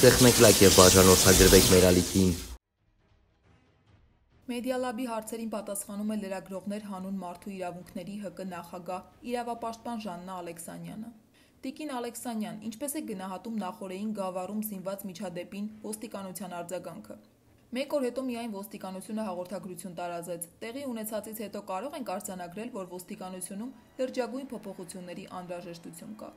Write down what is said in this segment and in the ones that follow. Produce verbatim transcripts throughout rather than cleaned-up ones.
Սեղմեք եւ բաժանորդագրվեք մեր ալիքին։ Մեդիալաբի հարցերին պատասխանում է լրագրողներ հանուն մարդու իրավունքների ՀԿ նախագահ իրավապաշտպան Ժաննա Ալեքսանյանը։ Տիկին Ալեքսանյան, ինչպես է գնահատում նախօրեին Գավառում զինված միջադեպին ոստիկանության արձագանքը։ Մեկ օր հետո միայն ոստիկանությունը հաղորդագրություն տարածեց։ Տեղի ունեցածից հետո կարող ենք արձանագրել, որ ոստիկանությունում լրջագույն փոփոխությունների անհրաժեշտություն կա։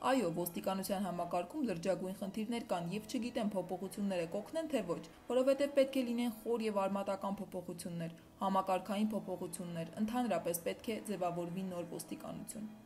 Այո, ոստիկանության համակարգում լրջագույն խնդիրներ կան եւ չգիտեմ փոփոխությունները կօգնեն թե ոչ, որովհետեւ պետք է լինեն խոր եւ արմատական փոփոխություններ, համակարգային փոփոխություններ, ընդհանրապես պետք է ձևավորվի նոր ոստիկանություն։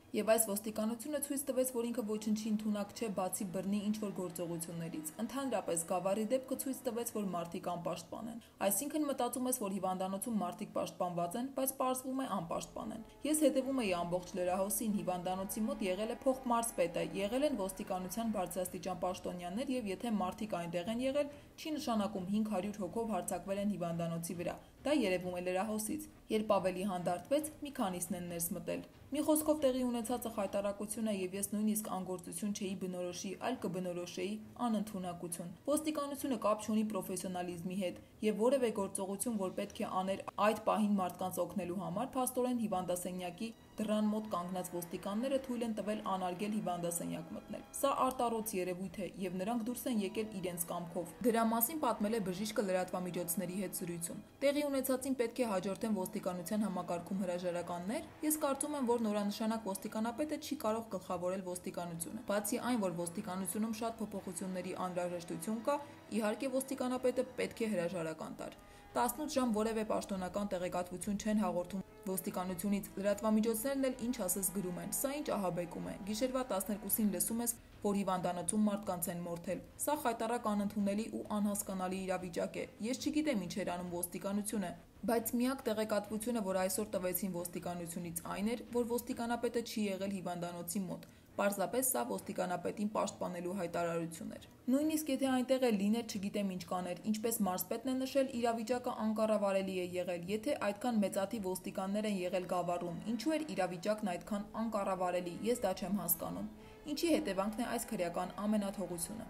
Եվ այս ոստիկանությունը ցույց տվեց, որ ինքը ոչնչի ընդունակ չէ, բացի բռնի ինչ-որ գործողություններից։ Ընդհանրապես Գավառի դեպքը ցույց տվեց, որ մարդիկ անպաշտպան են։ Այսինքն մտածում ես, որ հիվանդանոցում մարդիկ պաշտպանված են, բայց պարզվում է անպաշտպան են։ Ես հետևում էի ամբողջ լրահոսին, հիվանդանոցի մոտ եղել է փոխմարզպետը, եղել են ոստիկանության բարձրաստիճան պաշտոնյաներ եւ եթե մարդիկ այնտեղ են եղել, չի նշանակում հինգ հարյուր հոգով հարձակվել են հիվանդանոցի վրա։ Դա երևում է լրահոսից։ Երբ ավելի հանդարտվեց, մի քանիսն են ներս մտել։ Մի խոսքով տեղի ունեցածը խայտարակություն է եւ ես նույնիսկ անգործություն չէի բնորոշի, այլ կբնորոշեի անընդունակություն։ Ոստիկանությունը կապ չունի պրոֆեսիոնալիզմի հետ եւ որևէ գործողություն, որ պետք է աներ այդ պահին մարդկանց օգնելու համար, փաստորեն հիվանդասենյակի դռան մոտ կանգնած ոստիկանները թույլ են տվել անարգել հիվանդասենյակ մտնել։ Սա արտառոց երևույթ է եւ նրանք դուրս են եկել իրենց կամքով։ Դրա մասին պատմել է բժիշկը լրատվամիջոցների հետ զրույցում։ Տեղի ունեցածին պետք է հաջորդեն ոստիկանության համակարգում հրաժարականներ։ Ես կարծում եմ, որ նորանշանակ ոստիկանապետը չի կարող գլխավորել ոստիկանությունը։ Բացի այն, որ ոստիկանությունում շատ փոփոխությունների անհրաժեշտություն կա, իհարկե ոստիկանապետը պետք է հրաժարական տար։ տասնութ ժամ որևէ պաշտոնական տեղեկատվություն չեն հաղորդում ոստիկանությունից, լրատվամիջոցներն էլ ինչ ասես գրում են, սա ինչ ահաբեկում է։ Գիշերվա տասներկուսին լսում ես, որ հիվանդանոցում մարդկանց են մորթել։ Սա խայտառակ անընդունելի ու անհասկանալի իրավիճակ է։ Ես չգիտեմ ինչ էր անում ոստիկանությունը, բայց միակ տեղեկատվությունը, որ այսօր տվեցին ոստիկանությունից, այն էր, որ ոստիկանապետը չի եղել հիվանդանոցի մոտ։ Պարզապես սա ոստիկանապետին պաշտպանելու հայտարարություն էր։ Նույնիսկ եթե այնտեղ էլ լիներ, չգիտեմ ինչ կաներ, ինչպես մարզպետն է նշել, իրավիճակը անկառավարելի է եղել, եթե այդքան մեծաթիվ ոստիկաններ են եղել Գավառում, ինչու էր իրավիճակն այդքան անկառավարելի, ես դա չեմ հասկանում։ Ինչի հետևանքն է այս քրեական ամենաթողությունը։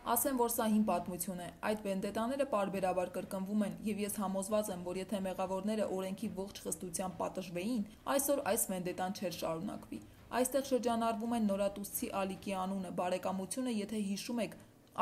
Ասեմ, որ սա հին պատմություն է, այդ վենդետաները պարբերաբար կրկնվում են եւ ես համոզված եմ, որ եթե մեղավորները օրենքի ողջ խստությամբ պատժվեին, այսօր այս վենդետան չէր շարունակվի։ Այստեղ շրջանառվում են նորատուսցի Ալիկի անունը, բարեկամությունը, եթե հիշում եք,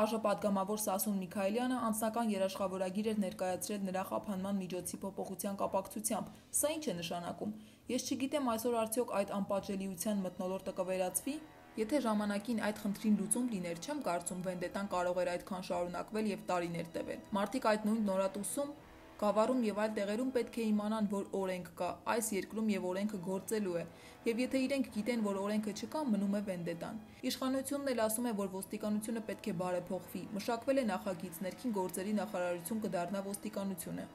Արժապատգամավոր Սասուն Միքայելյանը անձնական երաշխավորագիր էր ներկայացրել նրա խափանման միջոցի փոփոխության կապակցությամբ։ Սա ինչ է նշանակում։ Ես չգիտեմ այսօր արդյոք այդ անպատժելիության մթնոլորտը կվերացվի։ Եթե ժամանակին այդ խնդրին լուծում լիներ, չեմ կարծում վենդետան կարող էր այդքան շարունակվել եւ տարիներ տևել։ Մարդիկ այդ նույն նորատուսում, Գավառում եւ այլ տեղերում պետք է իմանան, որ օրենք կա, այս երկրում եւ օրենքը գործելու է, եւ եթե իրենք գիտեն, որ օրենքը չկա, մնում է վենդետան։ Իշխանությունն էլ ասում է, որ ոստիկանությունը պետք է բարեփոխվի, մշակվել է նախագիծ, ներքին գործերի նախարարություն կդառնա ոստիկանությունը։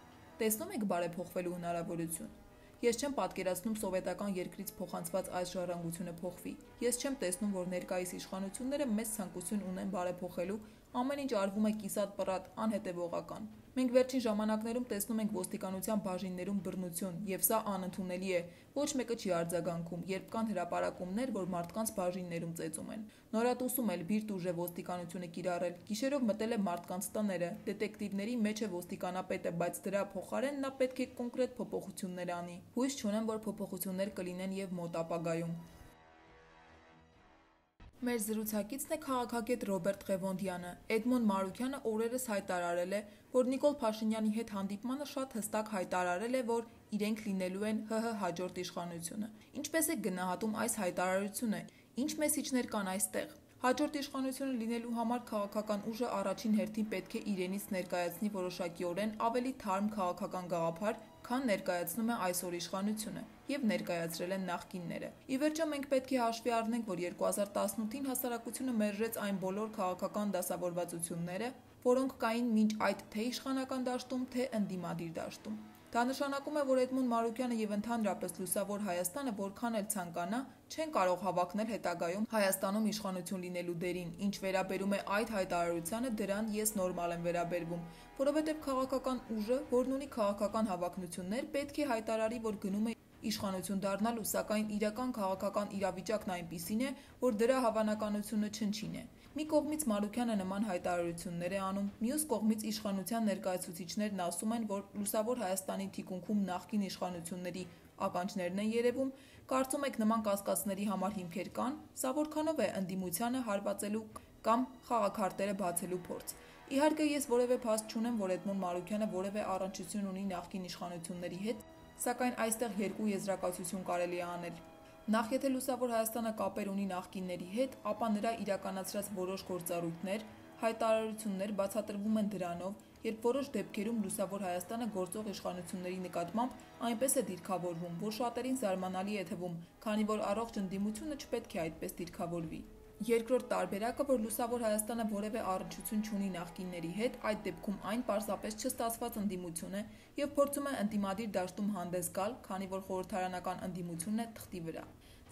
Տեսնում եք բարեփոխվելու հնարավորություն։ Ես չեմ պատկերացնում սովետական երկրից փոխանցված այս ժառանգությունը փոխվի։ Ես չեմ տեսնում, որ ներկայիս իշխանությունները մեծ ցանկություն ունեն բարեփոխելու, ամեն ինչ արվում է կիսատ-պռատ, անհետևողական։ Մենք վերջին ժամանակներում տեսնում ենք ոստիկանության բաժիններում բռնություն, եւ սա անընդունելի է։ Ոչ մեկը չի արձագանքում, երբ կան հրապարակումներ, որ մարդկանց բաժիններում ծեծում են։ Նորատուսում էլ բիրտ ուժ է ոստիկանությունը կիրառել։ Գիշերով մտել է մարդկանց տները, դետեկտիվների մեջ է ոստիկանապետը, բայց դրա փոխարեն նա պետք է կոնկրետ փոփոխություններ անի։ Հույս չունեմ, որ փոփոխություններ կլինեն եւ մոտ ապագայում։ Մեր զրուցակիցն է քաղաքագետ Ռոբերտ Ղևոնդյանը։ Էդմոն Մարուքյանը օրերս հայտարարել է, որ Նիկոլ Փաշինյանի հետ հանդիպմանը շատ հստակ հայտարարել է, որ իրենք լինելու են ՀՀ հաջորդ իշխանությունը։ Ինչպես է գնահատում այս հայտարարությունը, ինչ մեսիջներ կան այստեղ։ Հաջորդ իշխանությունը լինելու համար քաղաքական ուժը առաջին հերթին պետք է իրենից ներկայացնի որոշակիորեն ավելի թարմ քաղաքական գաղափար, քան ներկայացնում է այսօր իշխանությունը եւ ներկայացրել են նախկինները։ Ի վերջո մենք պետք է հաշվի առնենք, որ երկու հազար տասնութին հասարակությունը մերժեց այն բոլոր քաղաքական դասավորվածությունները, որոնք կային մինչ այդ թե իշխանական դաշտում, թե ընդդիմադիր դաշտում։ Դա նշանակում է, որ Էդմոն Մարուքյանը եւ ընդհանրապես լուսավոր Հայաստանը որքան էլ ցանկանա, չեն կարող հավակնել հետագայում Հայաստանում իշխանություն լինելու դերին, ինչ վերաբերում է այդ հայտարարությանը, դրան ես նորմալ եմ վերաբերվում, որովհետեւ քաղաքական ուժը, որն ունի քաղաքական հավակնություններ, պետք է հայտարարի, որ գնում է Իշխանություն դառնալու, սակայն իրական քաղաքական իրավիճակն այնպիսին է, որ դրա հավանականությունը չնչին է։ Մի կողմից Մարուքյանը նման հայտարարություններ է անում, մյուս կողմից իշխանության ներկայացուցիչներն ասում են, որ Լուսավոր Հայաստանի թիկունքում նախկին իշխանությունների ականջներն են երևում, կարծում եք նման կասկածների համար հիմքեր կան, սա որքանով է ընդդիմությանը հարվածելու կամ խաղաքարտերը բացելու փորձ։ Իհարկե ես որևէ փաստ չունեմ, որ Էդմոն Մարուքյանը որևէ առնչություն ունի նախկին իշխանությունների հետ, սակայն այստեղ երկու եզրակացություն կարելի է անել։ Նախ եթե Լուսավոր Հայաստանը կապեր ունի նախկինների հետ, ապա նրա իրականացրած որոշ գործառույթներ, հայտարարություններ բացատրվում են դրանով, երբ որոշ դեպքերում Լուսավոր Հայաստանը գործող իշխանությունների նկատմամբ այնպես է դիրքավորվում, որ շատերին զարմանալի է թվում, քանի որ առողջ ընդդիմությունը չպետք է այդպես դիրքավորվի։ Երկրորդ տարբերակը, որ Լուսավոր Հայաստանը որևէ առնչություն չունի նախկինների հետ, այդ դեպքում այն պարզապես չստացված ընդդիմություն է եւ փորձում է ընդդիմադիր դաշտում հանդես գալ, քանի որ խորհրդարանական ընդդիմությունն է թղթի վրա։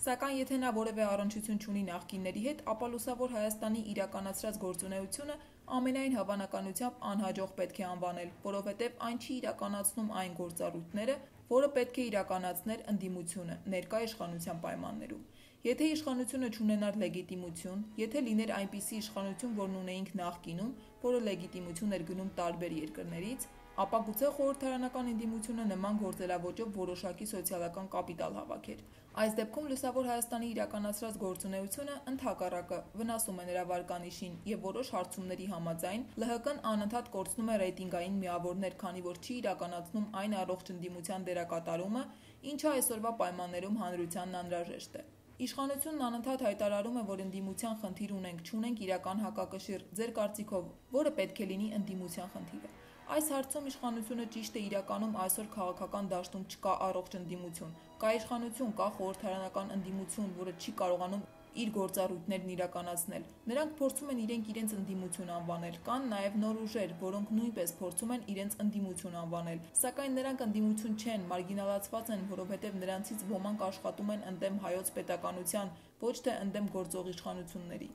Սակայն եթե նա որևէ առնչություն չունի նախկինների հետ, ապա Լուսավոր Հայաստանի իրականացրած գործունեությունը ամենայն հավանականությամբ անհաջող պետք է անվանել, որովհետև այն չի իրականացնում այն գործառույթները, որը պետք է իրականացներ ընդդիմությունը ներկա իշխանության պայմաններում։ Եթե իշխանությունը չունենար լեգիտիմություն, եթե լիներ այնպիսի իշխանություն, որն ունեինք նախկինում, որը լեգիտիմություն էր գնում տարբեր երկրներից, ապա գուցե խորհրդարանական ընդդիմությունը նման գործելավոճով որոշակի սոցիալական կապիտալ հավաքեր։ Այս դեպքում Լուսավոր Հայաստանի իրականացրած գործունեությունը ընդհակառակը վնասում է նրա վարկանիշին եւ որոշ հարցումների համաձայն Լ Հ Կ-ն անընդհատ կորցնում է ռեյտինգային միավորներ, քանի որ չի իրականացնում այն առողջ ընդդիմության դերակատարումը, ինչը այսօրվա պայմաններում հանրությանն անհրաժեշտ է։ Իշխանությունն անընդհատ հայտարարում է, որ ընդդիմության խնդիր ունենք, չունենք իրական հակակշիռ, ձեր կարծիքով, որը պետք է լինի ընդդիմության խնդիրը։ Այս հարցում իշխանությունը ճիշտ է իրականում այսօր քաղաքական դաշտում չկա առողջ ընդդիմություն, կա իշխանություն, կա խորհրդարանական ընդդիմություն, որը չի կարողանում իր գործառույթներն իրականացնել։ Նրանք փորձում են իրենք իրենց ընդդիմություն անվանել, կան նաև նոր ուժեր, որոնք նույնպես փորձում են իրենց ընդդիմություն անվանել, սակայն նրանք ընդդիմություն չեն, մարգինալացված են, որովհետև նրանցից ոմանք աշխատում են ընդդեմ հայոց պետականության, ոչ թե ընդդեմ գործող իշխանությունների։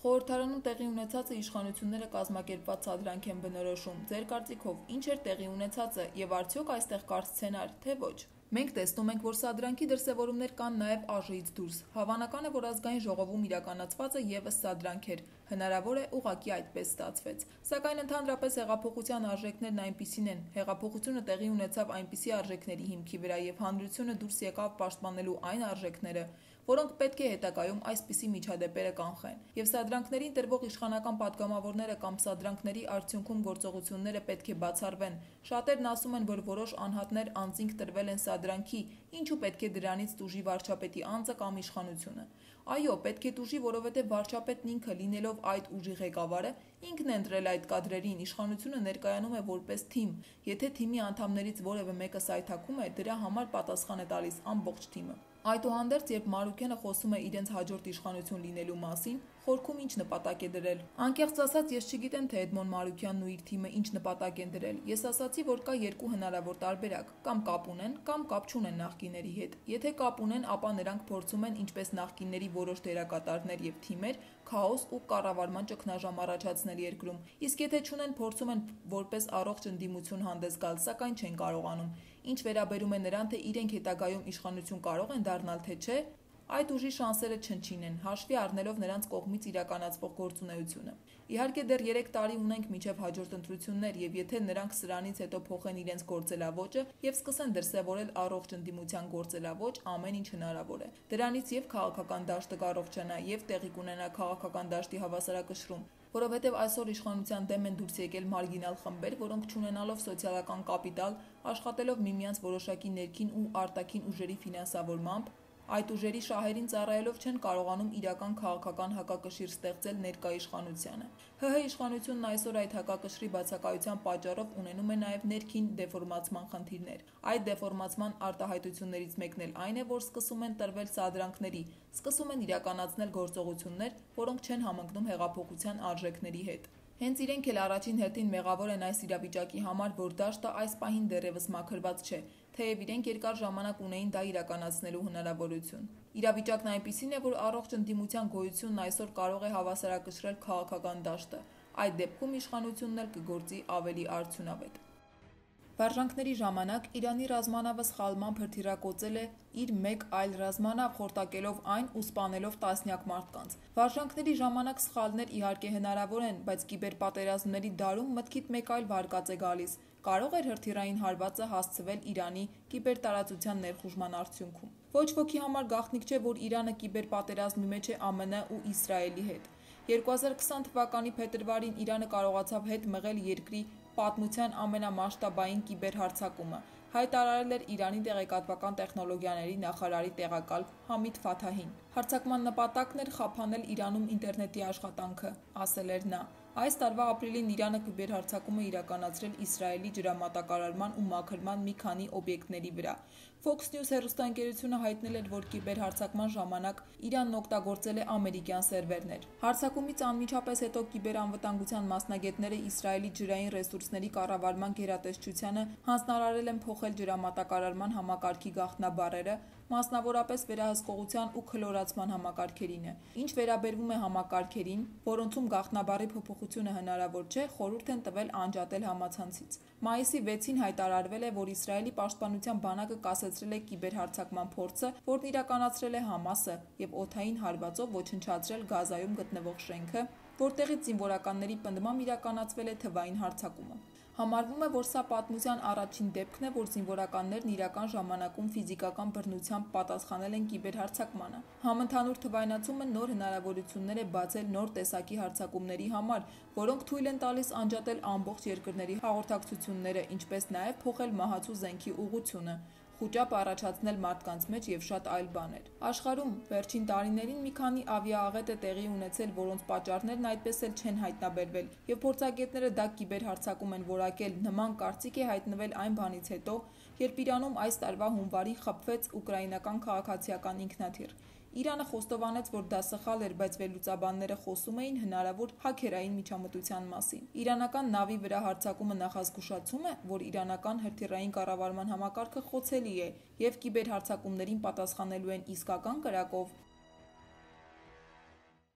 Խորհրդարանում տեղի ունեցածը իշխանությունները կազմակերպված սադրանք են բնորոշում։ Ձեր կարծիքով ինչ էր տեղի ունեցածը եւ արդյոք այստեղ կար սցենար, թե ոչ։ Մենք տեսնում ենք, որ սադրանքի դրսևորումներ կան նաև ԱԺ-ից դուրս։ Հավանական է, որ ազգային ժողովում իրականացվածը եւս սադրանք էր։ Հնարավոր է ուղղակի այդպես ստացվեց։ Սակայն ընդհանրապես հեղափոխության արժեքներն այնպիսին են։ Հեղափոխությունը տեղի ունեցավ այնպիսի արժեքների հիմքի վրա եւ հանրությունը դուրս եկավ պաշտպանելու այն արժեքները, որոնք պետք է հետագայում այսպիսի միջադեպերը կանխեն։ Եվ սադրանքներին տրվող իշխանական պատգամավորները կամ սադրանքների արդյունքում գործողությունները պետք է բացառվեն։ Շատերն ասում են, որ որոշ անհատներ անձինք տրվել են սադրանքի, ինչու պետք է դրանից տուժի վարչապետի անձը կամ իշխանությունը։ Այո, պետք է տուժի, որովհետև վարչապետն ինքը լինելով այդ ուժի ղեկավարը, ինքն է ընտրել այդ կադրերին, իշխանությունը ներկայանում է որպես թիմ։ Եթե թիմի անդամներից որևէ մեկը սայթաքում է, դրա համար պատասխան է տալիս ամբողջ թիմը։ Այդուհանդերձ, երբ Մարուքյանը խոսում է իրենց հաջորդ իշխանություն լինելու մասին, խորքում ինչ նպատակ է դրել։ Անկեղծ ասած, ես չգիտեմ, թե Էդմոն Մարուքյանն ու իր թիմը ինչ նպատակ են դրել։ Ես ասացի, որ կա երկու հնարավոր տարբերակ՝ կամ կապ ունեն, կամ կապ չունեն նախկինների հետ։ Եթե կապ ունեն, ապա նրանք փորձում են, ինչպես նախկինների որոշ դերակատարներ եւ թիմեր, քաոս ու կառավարման ճգնաժամ առաջացնել երկրում։ Իսկ եթե չունեն, փորձում են որպես առողջ ընդդիմություն հանդես գալ, սակայն չեն կարողանում։ Ինչ վերաբերում է նրան, թե իրենք հետագայում իշխանություն կարող են դառնալ, թե չէ, այդ ուժի շանսերը չնչին են, հաշվի առնելով նրանց կողմից իրականացվող գործունեությունը։ Իհարկե դեռ երեք տարի ունենք մինչև հաջորդ ընտրություններ, եւ եթե նրանք սրանից հետո փոխեն իրենց գործելավոճը եւ սկսեն դրսեւորել առողջ ընդդիմության գործելավոճ, ամեն ինչ հնարավոր է։ Դրանից եւ քաղաքական դաշտը կառողջանա եւ տեղի կունենա քաղաքական դաշտի հավասարակշռում, որովհետև այսօր իշխանության դեմ են դուրս եկել մարգինալ խմբեր, որոնք չունենալով սոցիալական կապիտալ, աշխատելով միմյանց որոշակի ներքին ու արտաքին ուժերի ֆինանսավորմամբ, այդ ուժերի շահերին ծառայելով չեն կարողանում իրական քաղաքական հակակշիռ ստեղծել ներկա իշխանությանը։ ՀՀ իշխանությունն այսօր այդ հակակշռի բացակայության պատճառով ունենում է նաև ներքին դեֆորմացման խնդիրներ։ Այդ դեֆորմացման արտահայտություններից մեկն էլ այն է, որ սկսում են տրվել սադրանքների, սկսում են իրականացնել գործողություններ, որոնք չեն համընկնում հեղափոխության արժեքների հետ։ Հենց իրենք էլ առաջին հերթին մեղավոր են այս իրավիճակի համար, որ դաշտը այս պահին դեռևս մաքրված չէ, թեև իրենք երկար ժամանակ ունեին դա իրականացնելու հնարավորություն։ Իրավիճակն այնպիսին է, որ առողջ ընդդիմության գոյությունն այսօր կարող է հավասարակշռել քաղաքական դաշտը։ Այդ դեպքում իշխանությունն էլ կգործի ավելի արդյունավետ։ Վարժանքների ժամանակ Իրանի ռազմանավը սխալմամբ հրթիռակոծել է իր մեկ այլ ռազմանավ, խորտակելով այն ու սպանելով տասնյակ մարդկանց։ Վարժանքների ժամանակ սխալներ իհարկե հնարավոր են, բայց կիբերպատերազմների դարում մտքիդ մեկ այլ վարկած է գալիս։ Կարող էր հրթիռային հարվածը հասցվել Իրանի կիբերտարածության ներխուժման արդյունքում։ Ոչ ոքի համար գաղտնիք չէ, որ Իրանը կիբերպատերազմի մեջ է ԱՄՆ ու Իսրայելի հետ։ երկու հազար քսան թվականի փետրվարին Իրանը կարողացավ հետ մղել երկրի պատմության ամենամասշտաբային կիբերհարձակումը, հայտարարել էր Իրանի տեղեկատվական տեխնոլոգիաների նախարարի տեղակալ Համիդ Ֆաթահին։ Հարձակման նպատակն էր խափանել Իրանում ինտերնետի աշխատանքը, ասել էր նա։ Այս տարվա ապրիլին Իրանը կիբերհարձակում է իրականացրել Իսրայելի ջրամատակարարման ու մաքրման մի քանի օբյեկտների վրա։ Fox News հեռուստաընկերությունը հայտնել էր, որ կիբերհարձակման ժամանակ Իրանն օգտագործել է ամերիկյան սերվերներ։ Հարձակումից անմիջապես հետո կիբերանվտանգության մասնագետները Իսրայելի ջրային ռեսուրսների կառավարման գերատեսչությանը հանձնարարել են փոխել ջրամատակարարման համակարգի գաղտնաբառերը, մասնավորապես վերահսկողության ու քլորացման համակարգերինը։ Ինչ վերաբերվում է համակարգերին, որոնցում գաղտնաբառի փոփոխությունը հնարավոր չէ, խորհուրդ են տվել անջատել համացանցից։ Մայիսի վեցին հայտարարվել է, որ Իսրայելի պաշտպանության բանակը կասեցրել է կիբերհարձակման փորձը, որն իրականացրել է Համասը և օդային հարվածով ոչնչացրել Գազայում գտնվող շենքը, որտեղից զինվորականների պնդմամբ իրականացվել է թվային հարձակումը։ Համարվում է, որ սա պատմության առաջին դեպքն է, որ զինվորականներն իրական ժամանակում ֆիզիկական բռնությամբ պատասխանել են կիբերհարձակմանը։ Համընդհանուր թվայնացումը նոր հնարավորություններ է բացել նոր տեսակի հարձակումների համար, որոնք թույլ են տալիս անջատել ամբողջ երկրների հաղորդակցությունները, ինչպես նաև փոխել մահացու զենքի ուղղությունը, խուճապ առաջացնել մարդկանց մեջ և շատ այլ բաներ։ Աշխարհում վերջին տարիներին մի քանի ավիաաղետ է տեղի ունեցել, որոնց պատճառներն այդպես էլ չեն հայտնաբերվել, և փորձագետները դա կիբերհարձակում են որակել։ Նման կարծիք է հայտնվել այն բանից հետո, երբ Իրանում այս տարվա հունվարին խփվեց ուկրաինական քաղաքացիական ինքնաթիռ։ Իրանը խոստովանեց, որ դա սխալ էր, բայց վերլուծաբանները խոսում էին հնարավոր հաքերային միջամտության մասին։ Իրանական նավի վրա հարձակումը նախազգուշացում է, որ իրանական հրթիռային կառավարման համակարգը խոցելի է և կիբերհարձակումներին պատասխանելու են իսկական կրակով։